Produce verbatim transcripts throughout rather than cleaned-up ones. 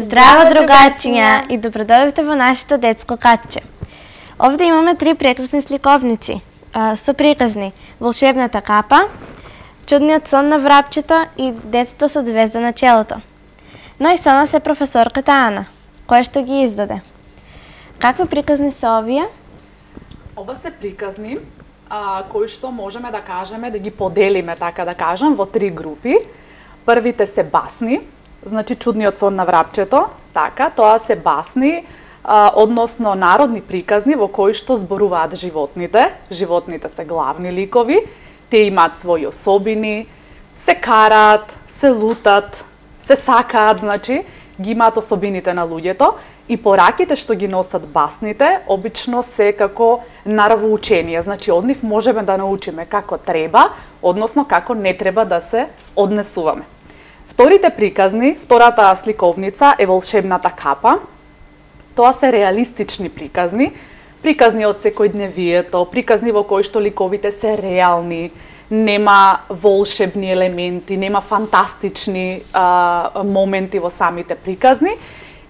Здраво, другачиња, и добродојавте во нашето детско катче. Овде имаме три прекрасни сликовници со приказни Волшебната капа, Чудниот сон на врапчето и Детето со звезда на челото. Но и со нас е професорката Ана, која што ги издаде. Какви приказни се овие? Ова се приказни а, кои што можеме да кажеме, да ги поделиме, така да кажам, во три групи. Првите се басни, значи Чудниот сон на врапчето, така, тоа се басни, а, односно народни приказни во кои што зборуваат животните. Животните се главни ликови, те имаат своји особини, се караат, се лутат, се сакаат, значи, ги имаат особините на луѓето и пораките што ги носат басните, обично се како наравоучение, значи од нив можеме да научиме како треба, односно како не треба да се однесуваме. Вторите приказни, втората сликовница е Волшебната капа. Тоа се реалистични приказни, приказни од секојдневието, приказни во кои што ликовите се реални, нема волшебни елементи, нема фантастични а, моменти во самите приказни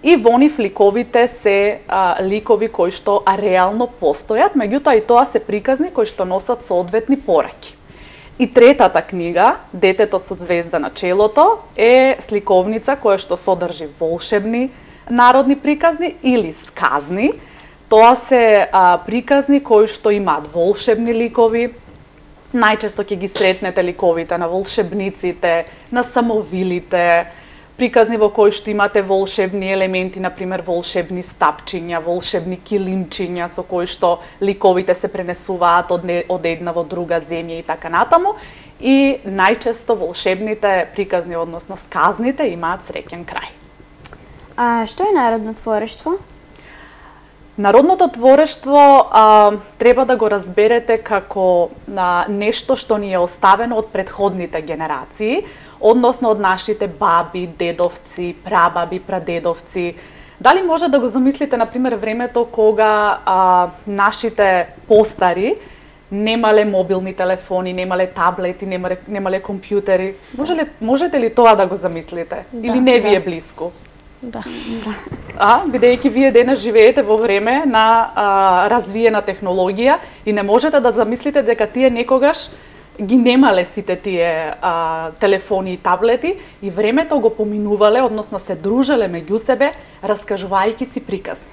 и во нив ликовите се а, ликови кои што реално постојат, меѓутоа и тоа се приказни кои што носат соодветни пораки. И третата книга, Детето со звезда на челото, е сликовница која што содржи волшебни народни приказни или сказни. Тоа се а, приказни кои што имаат волшебни ликови. Најчесто ќе ги сретнете ликовите на волшебниците, на самовилите, приказни во кои што имате волшебни елементи, например волшебни стапчиња, волшебни килимчиња со кои што ликовите се пренесуваат од, не, од една во друга земја и така натаму. И најчесто волшебните приказни, односно сказните, имаат среќен крај. А што е народно творештво? Народното творештво а, треба да го разберете како а, нешто што ни е оставено од претходните генерации, односно од нашите баби, дедовци, прабаби, прадедовци. Дали може да го замислите, например, времето кога а, нашите постари немале мобилни телефони, немале таблети, немале, немале компјутери? Може ли, можете ли тоа да го замислите? Да, Или не ви е да. блиску? Да. А, бидејќи вие денес живеете во време на а, развиена технологија и не можете да замислите дека тие некогаш ги немале сите тие а, телефони и таблети и времето го поминувале, односно се дружеле меѓу себе, раскажувајќи си приказни.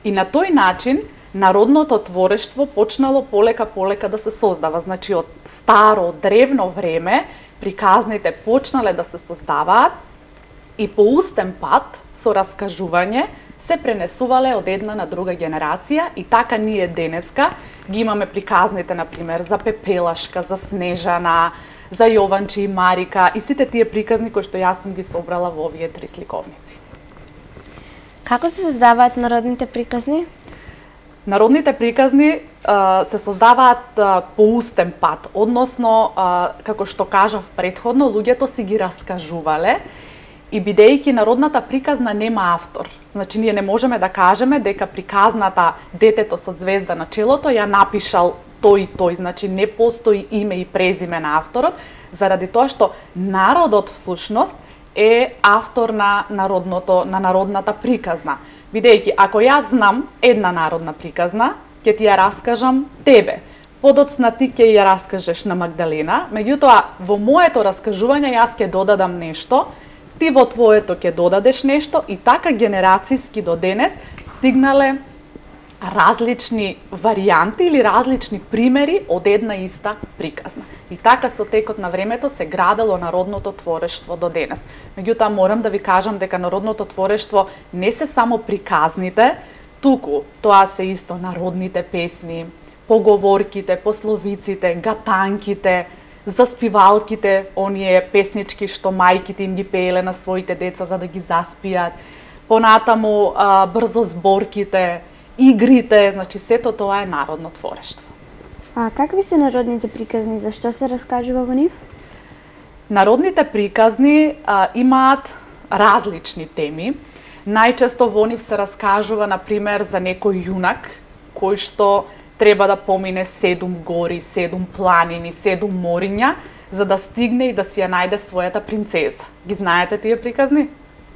И на тој начин народното творештво почнало полека-полека да се создава. Значи од старо, древно време приказните почнале да се создаваат и по устен пат, со раскажување, се пренесувале од една на друга генерација и така ние денеска ги имаме приказните, например, за Пепелашка, за Снежана, за Јованче и Марика и сите тие приказни кои што јас сум ги собрала во овие три сликовници. Како се создаваат народните приказни? Народните приказни а, се создаваат а, по устен пат, односно, а, како што кажав претходно, луѓето си ги раскажувале и бидејќи народната приказна нема автор. Значи, ние не можеме да кажеме дека приказната Детето со звезда на челото ја напишал тој и тој, значи не постои име и презиме на авторот, заради тоа што народот всушност е автор на народното, на народната приказна. Бидејќи, ако јас знам една народна приказна, ќе ти ја раскажам тебе. Подоцна ти ќе ја раскажеш на Магдалена, меѓутоа во моето раскажување јас ќе додадам нешто, ти во твоето ќе додадеш нешто и така генерацијски до денес стигнале различни варијанти или различни примери од една иста приказна. И така со текот на времето се градело народното творештво до денес. Меѓутоа морам да ви кажам дека народното творештво не се само приказните, туку тоа се исто народните песни, поговорките, пословиците, гатанките, заспивалките, оние песнички што мајките им ги пееле на своите деца за да ги заспијат, понатаму а, брзозборките, игрите, значи сето тоа е народно творештво. А какви се народните приказни, зашто се раскажува во нив? Народните приказни а, имаат различни теми. Најчесто во нив се раскажува, например, за некој јунак кој што треба да помине седум гори, седум планини, седум мориња, за да стигне и да си ја најде својата принцеза. Ги знаете тие приказни?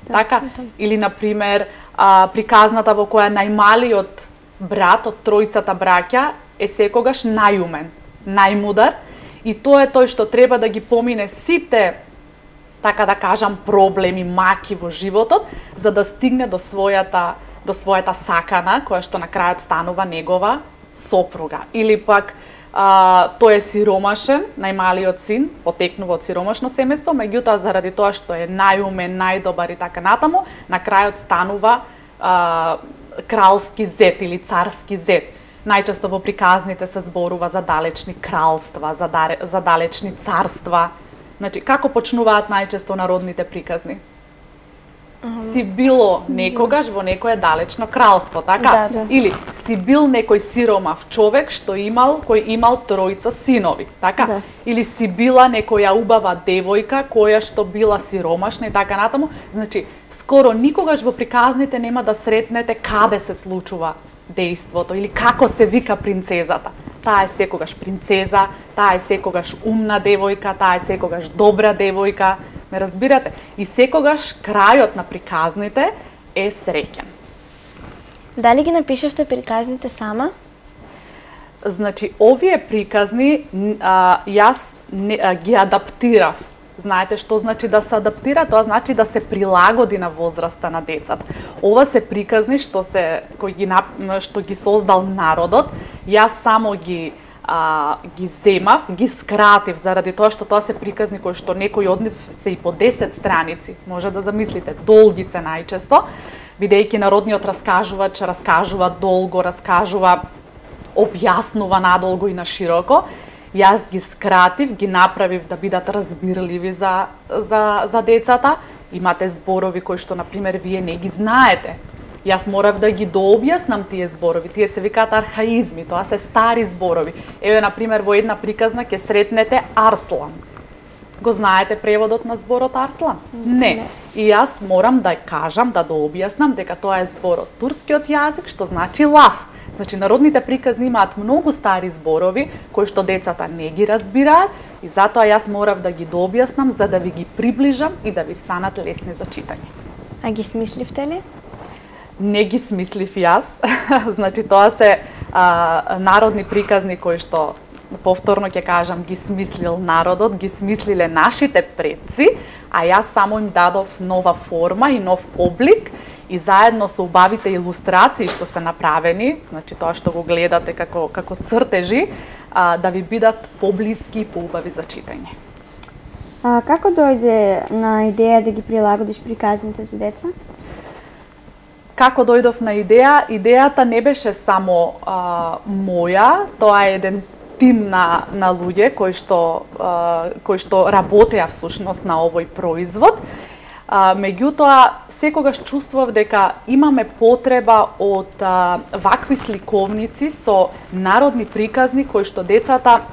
така? Или, например, а, приказната во која најмалиот брат од тројцата браќа е секогаш најумен, најмудар, и тоа е тој што треба да ги помине сите, така да кажам, проблеми, маки во животот, за да стигне до својата, до својата сакана, која што на крајот станува негова сопруга. Или пак, а, тој е сиромашен, најмалиот син, потекнува од сиромашно семејство, меѓутоа заради тоа што е најумен, најдобар и така натаму, на крајот станува а, кралски зет или царски зет. Најчесто во приказните се зборува за далечни кралства, за, даре, за далечни царства. Значи, како почнуваат најчесто народните приказни? Си било некогаш во некое далечно кралство, така? Да, да. Или си бил некој сиромав човек што имал, кој имал тројца синови, така? Да. Или си била некоја убава девојка која што била сиромашна и така натаму. Значи, скоро никогаш во приказните нема да сретнете каде се случува дејството или како се вика принцезата. Таа е секогаш принцеза, таа е секогаш умна девојка, таа е секогаш добра девојка. Ме разбирате? И секогаш крајот на приказните е среќен. Дали ги напишавте приказните сама? Значи, овие приказни а, јас не, а, ги адаптирав. Знаете што значи да се адаптира? Тоа значи да се прилагоди на возраста на децата. Ова се приказни што се кои ги што ги создал народот. Јас само ги а, ги земав, ги скратив заради тоа што тоа се приказни кои што некои од нив се и по десет страници. Може да замислите, долги се најчесто, бидејќи народниот раскажувач раскажува долго, раскажува, објаснува надолго и на широко. Јас ги скратив, ги направив да бидат разбирливи за, за, за децата. Имате зборови кои што, например, вие не ги знаете. Јас морав да ги дообјаснам тие зборови. Тие се викаат архаизми, тоа се стари зборови. Еве, например, во една приказна ќе сретнете Арслан. Го знаете преводот на зборот Арслан? Не. И јас морам да кажам, да дообјаснам дека тоа е збор од турскиот јазик, што значи лав. Значи, народните приказни имаат многу стари зборови, кои што децата не ги разбираат, и затоа јас морав да ги дообјаснам, за да ви ги приближам и да ви станат лесни за читање. А ги смисливте ли? Не ги смислив јас. Значи, тоа се а, народни приказни кои што, повторно ќе кажам, ги смислил народот, ги смислиле нашите предци, а јас само им дадов нова форма и нов облик, и заедно со убавите илустрации што се направени, значи тоа што го гледате како, како цртежи, а, да ви бидат поблиски и поубави за читање. А како дојде на идеја да ги прилагодиш приказните за деца? Како дојдов на идеја? Идејата не беше само а, моја, тоа е еден тим на, на луѓе кои што, а, кои што работеа всушност на овој производ. А, меѓутоа, секогаш чувствував дека имаме потреба од а, вакви сликовници со народни приказни кои што децата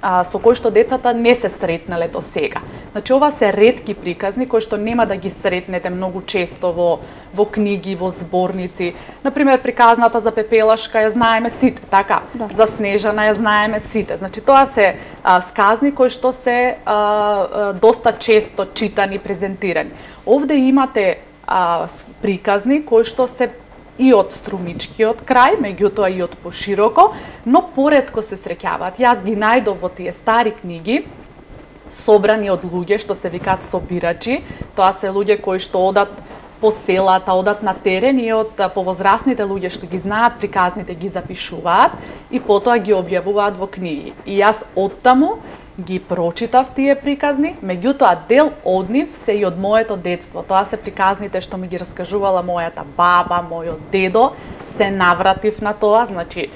а, со кои што децата не се сретнале до сега. Значи, ова се ретки приказни кои што нема да ги сретнете многу често во во книги, во зборници. Например, приказната за Пепелашка ја знаеме сите, така? Да. За Снежана ја знаеме сите. Значи, тоа се а, сказни кои што се а, а, доста често читани, презентирани. Овде имате а, приказни кои што се и од струмичкиот крај, меѓутоа и од пошироко, но поретко се среќаваат. Јас ги најдов во тие стари книги, собрани од луѓе што се викаат собирачи. Тоа се луѓе кои што одат по селата, одат на терен и од повозрасните луѓе што ги знаат приказните ги запишуваат и потоа ги објавуваат во книги. И јас оттаму ги прочитав тие приказни, меѓутоа дел од нив се и од моето детство. Тоа се приказните што ми ги раскажувала мојата баба, мојот дедо, се навратив на тоа, значи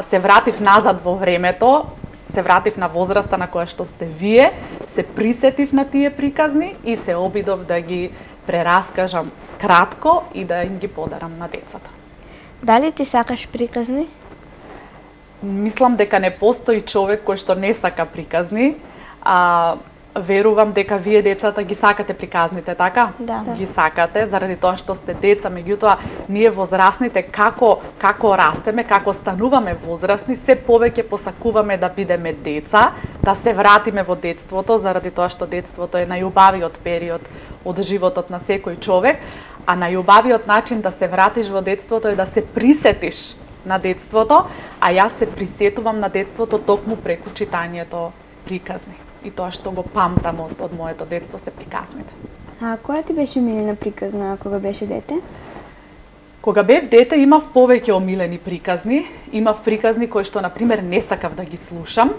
се вратив назад во времето, се вратив на возраста на која што сте вие, се присетив на тие приказни и се обидов да ги прераскажам кратко и да им ги подарам на децата. Дали ти сакаш приказни? Мислам дека не постои човек кој што не сака приказни. А, верувам дека вие децата ги сакате приказните, така? Да. Ги сакате заради тоа што сте деца, меѓутоа ние возрастните како како растеме, како стануваме возрастни, се повеќе посакуваме да бидеме деца, да се вратиме во детството, заради тоа што детството е најубавиот период од животот на секој човек, а најубавиот начин да се вратиш во детството е да се присетиш на детството, а јас се присетувам на детството токму преку читањето приказни. И тоа што го памтам од, од моето детство се приказните. А која ти беше омилена приказна кога беше дете? Кога бев дете имав повеќе омилени приказни, имав приказни кои што на пример не сакав да ги слушам,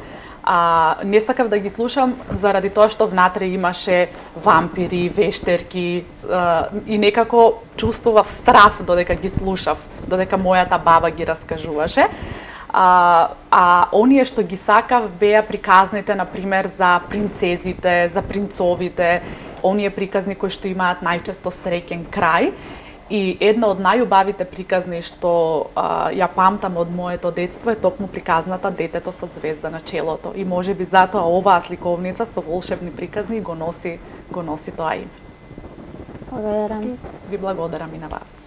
а не сакав да ги слушам заради тоа што внатре имаше вампири, вештерки а, и некако чувствував страф додека ги слушав, додека мојата баба ги раскажуваше. А, а оние што ги сакав беа приказните, на пример, за принцезите, за принцовите, оние приказни кои што имаат најчесто среќен крај. И една од најубавите приказни што а, ја памтам од моето детство е токму приказната Детето со звезда на челото. И можеби затоа оваа сликовница со волшебни приказни го носи, го носи тоа име. Благодарам. Ви благодарам и на вас.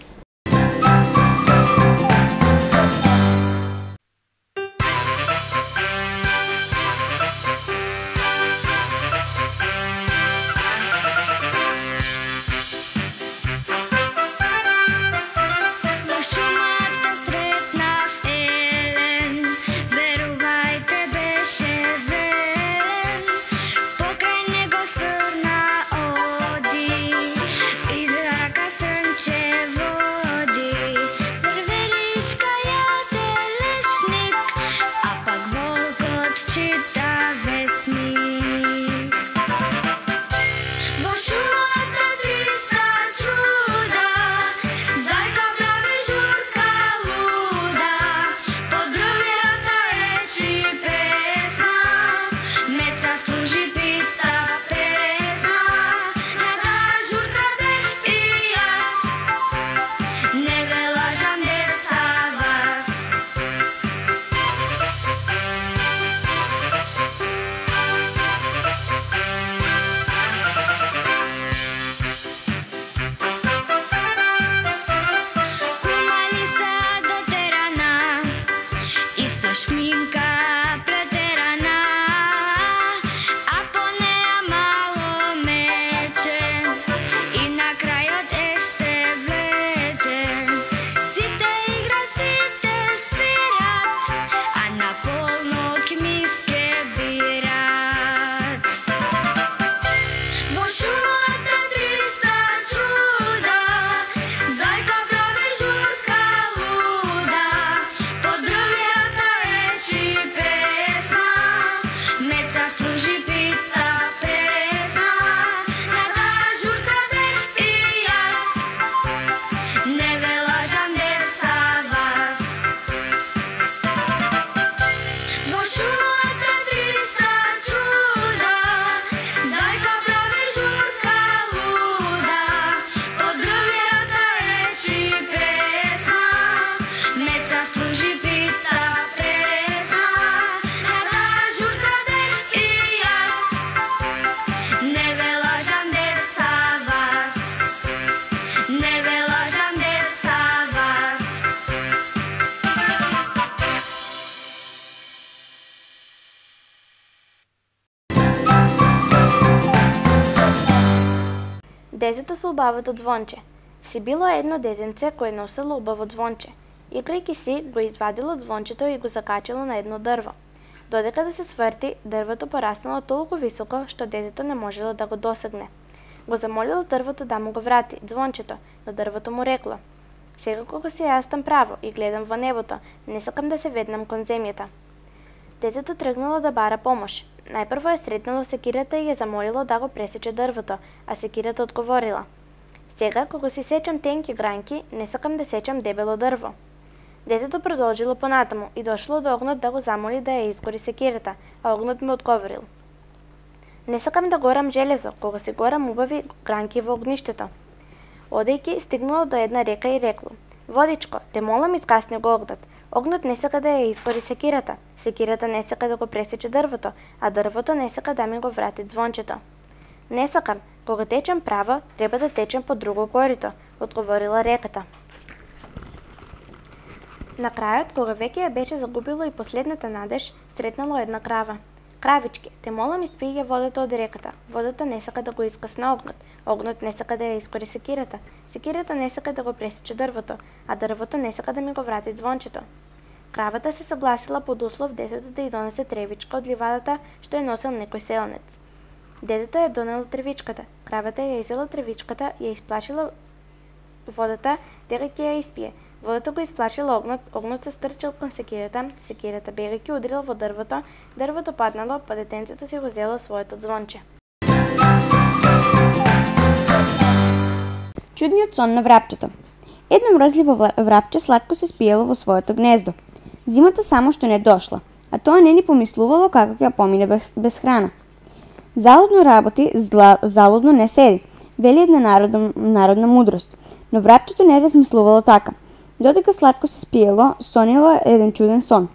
Детето со убавото звонче. Си било едно детенце кое носело убаво звонче. Играјќи си, го извадило звончето и го закачило на едно дрво. Додека да се сврти, дрвото пораснало толку високо што детето не можело да го досегне. Го замолило дрвото да му го врати звончето, но дрвото му рекло: "Сега кога си јас там право и гледам во небото, не сакам да се веднам кон земјата." Детето тргнало да бара помош. Најпрво е сретнало секирата и ја замолило да го пресече дрвото, а секирата одговорила: "Сега, кога си сечам тенки гранки, не сакам да сечам дебело дрво." Детето продолжило понатаму и дошло до огнот да го замоли да ја изгори секирата, а огнот му одговорил: "Не сакам да горам железо, кога си горам убави гранки во огништето." Одејќи, стигнало до една река и рекло: "Водичко, те молам искасни го огнот. Огнот не сака да ја изгори секирата, секирата не сака да го пресече дрвото, а дрвото не сака да ми го врати звончето." "Не сакам, кога течем право, треба да течем по друго корито," одговорила реката. На крајот, кога веќе ја беше загубило и последната надеж, сретнало една крава. Кравички, те молам испи ја водата од реката. Водата не сака да го искасна огнот. Огнот не сака да ја искори секирата. Секирата не сака да го пресече дрвото, а дрвото не сака да ми го врати звончето. Кравата се согласила под услов детето да ја донесе тревичка од ливадата што ја носел некој селенец. Детето ја донело тревичката. Кравата ја изела тревичката, ја исплашила водата дека ќе ја испие. Водата го исплашила огнот, огнот се стрчал кон секирата, секирата бегајќи удрила во дрвото, дрвото паднало, па детенцето си го зело своето звонче. Чудниот сон на врапчето. Едно мрзливо врапче сладко се спиело во своето гнездо. Зимата само што не дошла, а тоа не ни помислувало како ќе ја помине без, без храна. Залудно работи, зла, залудно не седи, вели една народна, народна мудрост, но врапчето не размислувало така. Додека сладко се спиело, сонило еден чуден сон.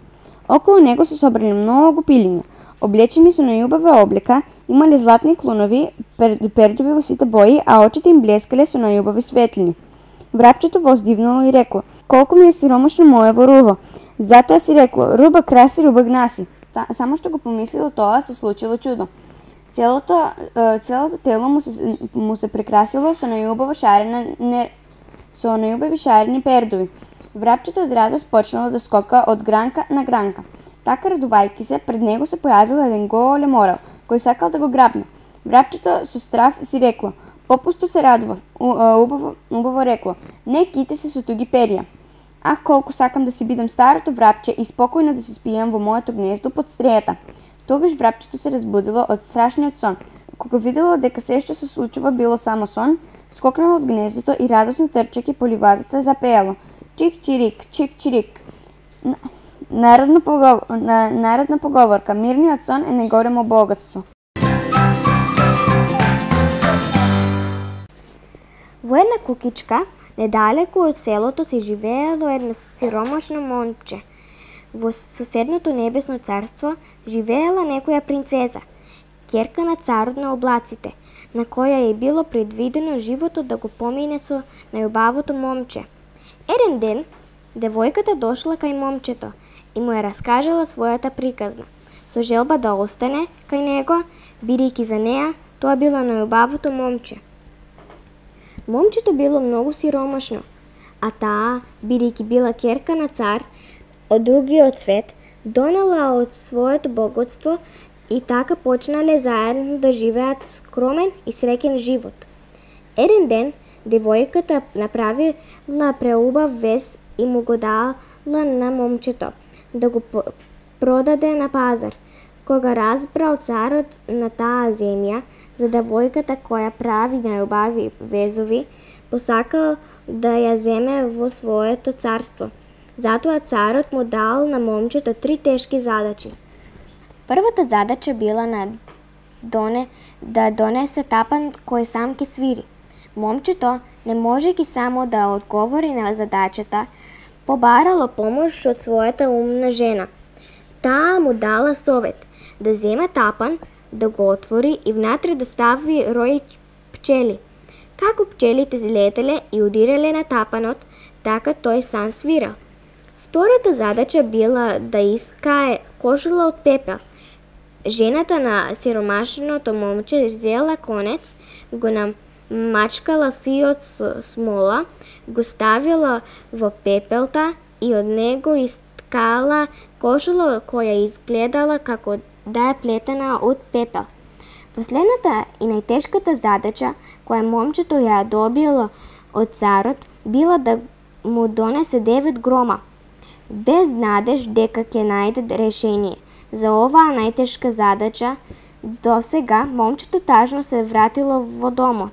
Околу него се собрали многу пилиња, облечени со најубава облека, имале златни клонови, пер, пердови во сите бои, а очите им блескале со најубави светлини. Врапчето воздивнало и рекло: "Колку ми е сиромашно моево руво." Затоа си рекло: "Руба краси, руба гнаси." Само што го помислило тоа, се случило чудо. Целото, целото тело му се, му се прекрасило со најубаво шарена не, со најубави шарени пердови. Врапчето од радост почнало да скока од гранка на гранка. Така радувајќи се, пред него се појавил еден голем орел, кој сакал да го грабне. Врапчето со страв си рекло: "Попусто се радував." Убаво, убаво рекло: "Не ките се со туги перија." "Ах, колку сакам да си бидам старото врапче и спокојно да се спијам во моето гнездо под стрејата." Тогаш врапчето се разбудило од страшниот сон. Кога видело дека се што се случува било само сон, скокнало од гнездото и радосно трчајќи по ливадата запеело: "Чик-чирик, чик-чирик." Народна поговор, народна поговорка: "Мирниот сон е најголемо богатство." Во една кукичка, недалеку од селото, се живеело едно сиромашно момче. Во соседното небесно царство живеела некоја принцеза, ќерка на царот на облаците, на која е било предвидено животот да го помине со најубавото момче. Еден ден, девојката дошла кај момчето и му ја раскажала својата приказна, со желба да остане кај него, бидејќи за неа тоа било најубавото момче. Момчето било многу сиромашно, а таа, бидејќи била ќерка на цар од другиот свет, донела од своето богатство и така почнале заедно да живеат скромен и среќен живот. Еден ден, девојката направила преубав вез и му го дала на момчето да го продаде на пазар. Кога разбрал царот на таа земја за девојката која прави најубави везови, посакал да ја земе во своето царство. Затоа царот му дал на момчето три тешки задачи. Првата задача била на доне, да донесе тапан кој сам ќе свири. Момчето, не можејќи само да одговори на задачата, побарало помош од својата умна жена. Таа му дала совет да земе тапан, да го отвори и внатре да стави рој пчели. Како пчелите летеле и удирале на тапанот, така тој сам свирал. Втората задача била да искае кошула од пепел. Жената на сиромашното момче зела конец, го намачкала сиот со смола, го ставила во пепелта и од него искала кошула која изгледала како да е плетена од пепел. Последната и најтешката задача која момчето ја добило од царот била да му донесе девет грома, без надеж дека ќе најде решение. За оваа најтешка задача досега момчето тажно се вратило во домот.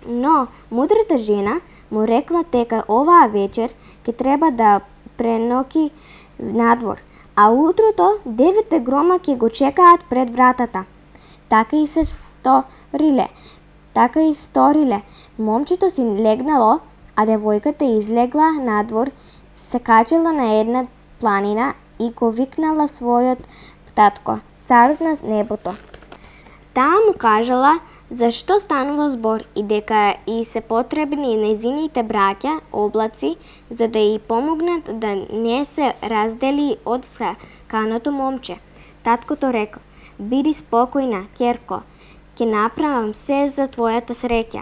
Но мудрата жена му рекла дека оваа вечер ќе треба да преноки надвор, а утрото деветте грома ќе го чекаат пред вратата. Така и се сториле. Така и сториле. Момчето си легнало, а девојката излегла надвор, се качила на една планина и го викнала својот татко, царот на небото. Таа му кажала зашто станува збор и дека и се потребни нејзините браќа, облаци, за да ја помогнат да не се раздели од саканото момче. Таткото рекол: Биди спокојна, ќерко, ќе направам се за твојата среќа.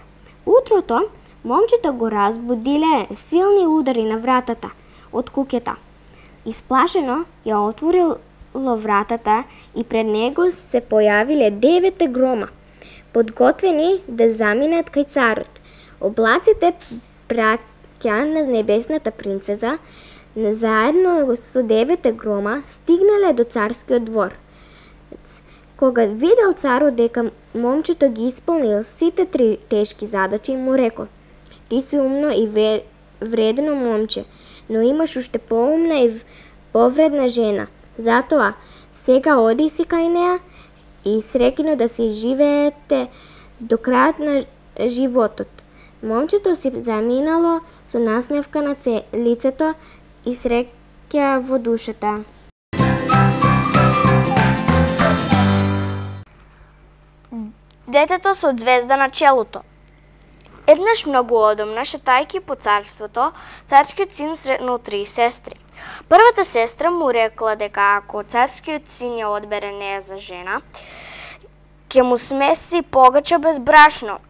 Утрото, момчето го разбудиле силни удари на вратата од куќата. Исплашено ја отворило вратата и пред него се појавиле девет грома, подготвени да заминат кај царот. Облаците праќа на небесната принцеза, заедно со девет грома стигнале до царскиот двор. Кога видел царот дека момчето ги исполнил сите три тешки задачи, му рекол: ти си умно и вредно момче, но имаш уште поумна и повредна жена. Затоа, сега оди си кај неа и среќно да си живеете до крајот на животот. Момчето си заминало со насмевка на лицето и среќа во душата. Детето со ѕвезда на челото. Еднаш многу одамна, шетајќи по царството, царскиот син сретнал три сестри. Првата сестра му рекла дека ако царскиот син ја одбере неа за жена, ќе му смеси погача без брашно,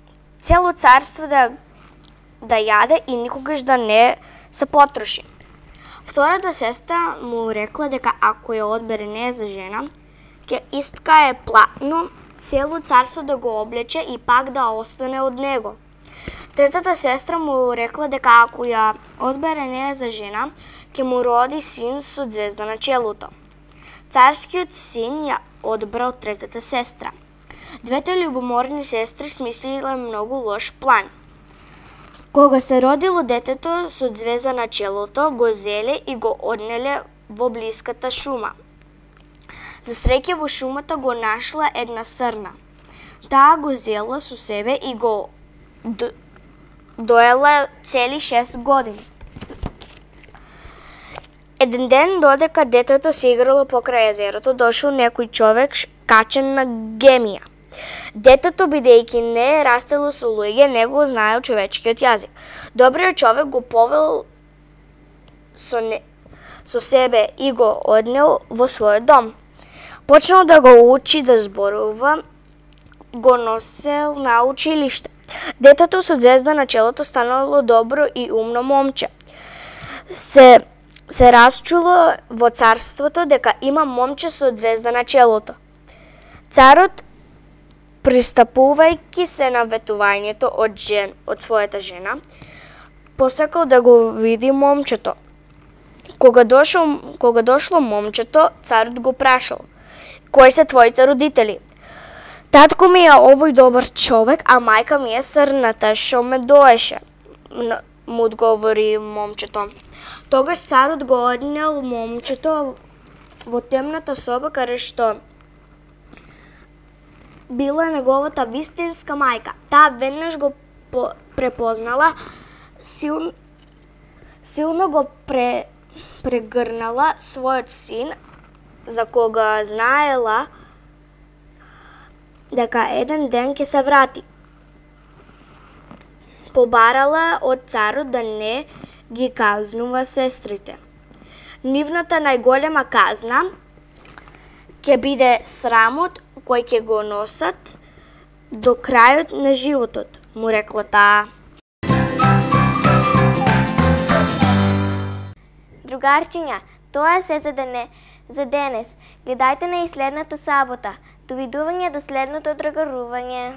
цело царство да, да јаде и никогаш да не се потроши. Втората сестра му рекла дека ако ја одбере неа за жена, ќе искае платно цело царство да го облече и пак да остане од него. Третата сестра му рекла дека ако ја одбере неа за жена, ќе му роди син со ѕвезда на челото. Царскиот син ја одбрал третата сестра. Двете љубоморни сестри смислиле многу лош план. Кога се родило детето со ѕвезда на челото, го зеле и го однеле во блиската шума. За среќа во шумата го нашла една срна. Таа го зела со себе и го д... доела цели шест години. Еден ден, додека детето се играло покрај езерото, дошол некој човек качен на гемија. Детето, бидејќи не растело со луѓе, не го знаел човечкиот јазик. Добриот човек го повел со, не... со себе и го однел во својот дом. Почнал да го учи да зборува, го носел на училиште. Детето со ѕвезда на челото станало добро и умно момче. Се, се расчуло во царството дека има момче со ѕвезда на челото. Царот, пристапувајќи се на ветувањето од жен, од својата жена, посакал да го види момчето. Кога дошол, кога дошло момчето, царот го прашал: кои се твоите родители? Татко ми е овој добар човек, а мајка ми е срната што ме доеше, му одговори момчето. Тогаш царот го однел момчето во темната соба каде што била неговата вистинска мајка. Таа веднаш го препознала, сил, силно го пре, прегрнала својот син, за кога знаела дека еден ден ќе се врати. Побарала од царот да не ги казнува сестрите. Нивната најголема казна ќе биде срамот кој ќе го носат до крајот на животот, му рекла таа. Другарчиња, тоа е се за, дене, за денес. Гледајте на и следната сабота. Довидување до следното другарување.